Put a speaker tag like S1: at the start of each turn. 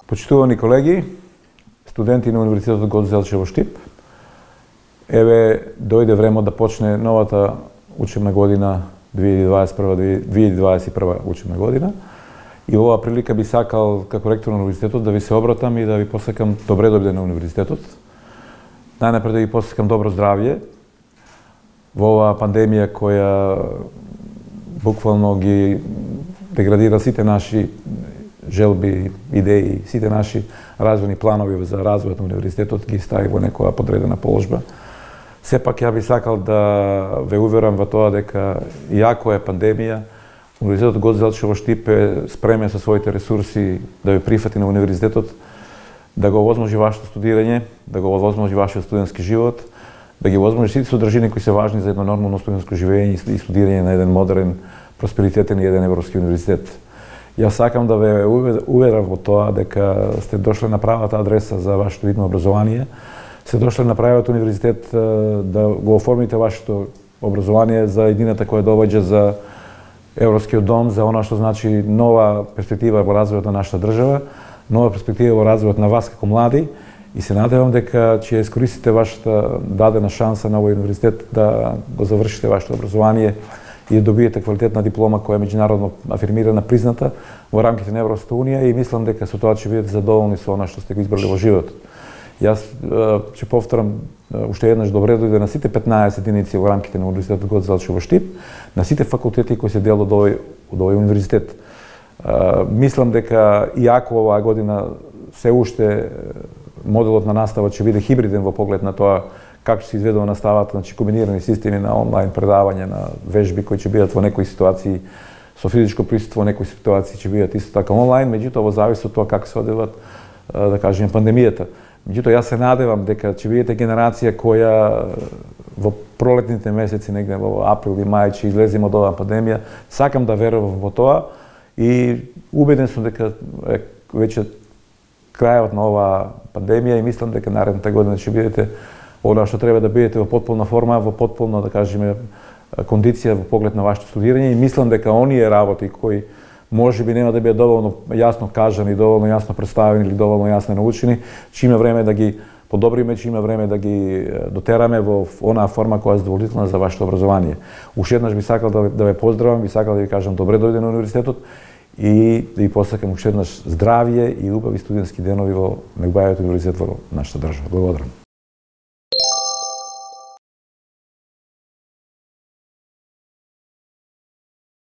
S1: Почитувани колеги, студенти на Универзитетот Гоце Делчев во Штип, еве дојде време да почне новата учебна година 2021 учебна година. И оваа прилика би сакал како ректор на универзитетот да ви се обратам и да ви посакам добре дојде на универзитетот. Најнапред да ви посакам добро здравје во оваа пандемија која буквално ги деградира сите наши желби, идеи, сите наши развојни планови за развојот на универзитетот ги стави во некоја подредена положба. Сепак ја би сакал да ве уверам во тоа дека иако е пандемија, Универзитетот Гоце Делчев во Штип е спремен со своите ресурси да ве прифати на универзитетот, да го овозможи вашето студирање, да го овозможи вашиот студентски живот, да ги овозможи сите содржини кои се важни за едно нормално студентско живење и студирање на еден модерен, просперитетен и еден европски универзитет. Јас сакам да ве уверам во тоа дека сте дошли на правата адреса за вашето видно образование, сте дошли на правиот универзитет да го оформите вашето образование за едината која доваѓа за Европскиот дом, за она што значи нова перспектива во развојот на нашата држава, нова перспектива во развојот на вас како млади, и се надевам дека ќе искористите вашата дадена шанса на овој универзитет да го завршите вашето образование и да добиете квалитетна диплома која е меѓународно афирмирана, призната во рамките на Европската унија, и мислам дека со тоа ќе бидете задоволни со она што сте го избрали во животот. Јас ќе повторам уште еднаш добре дојде на сите 15 единици во рамките на Универзитетот Гоце Делчев во Штип, на сите факултети кои се дел од овој универзитет. Мислам дека иако оваа година се уште моделот на настава ќе биде хибриден во поглед на тоа како ќе се изведува наставата, значи комбинирани системи на онлайн предавање, на вежби кои ќе бидат во некои ситуации со физичко присуство, во некои ситуации ќе бидат исто така онлайн, меѓутоа во зависи од тоа како се одвиват, да кажеме, пандемијата. Меѓутоа, јас се надевам дека ќе бидете генерација која во пролетните месеци, негде во април и мај, ќе излеземе од оваа пандемија. Сакам да верувам во тоа и убеден сум дека веќе крајот на оваа пандемија, и мислам дека наредната година ќе бидете она што треба да бидете во потполна форма, во потполна, да кажеме, кондиција во поглед на вашето студирање, и мислам дека оние работи кои можеби нема да бидат доволно јасно кажани, доволно јасно представени или доволно јасно научени, ќе има време да ги подобриме, ќе има време да ги дотераме во онаа форма која е задоволителна за вашето образование. Уште еднаш би сакал да ве поздравам, би сакал да ви кажам добре дојде на универзитетот и да ви посакам уште еднаш здравје и убави студентски денови во најубавиот универзитет во нашата држава. Благодарам.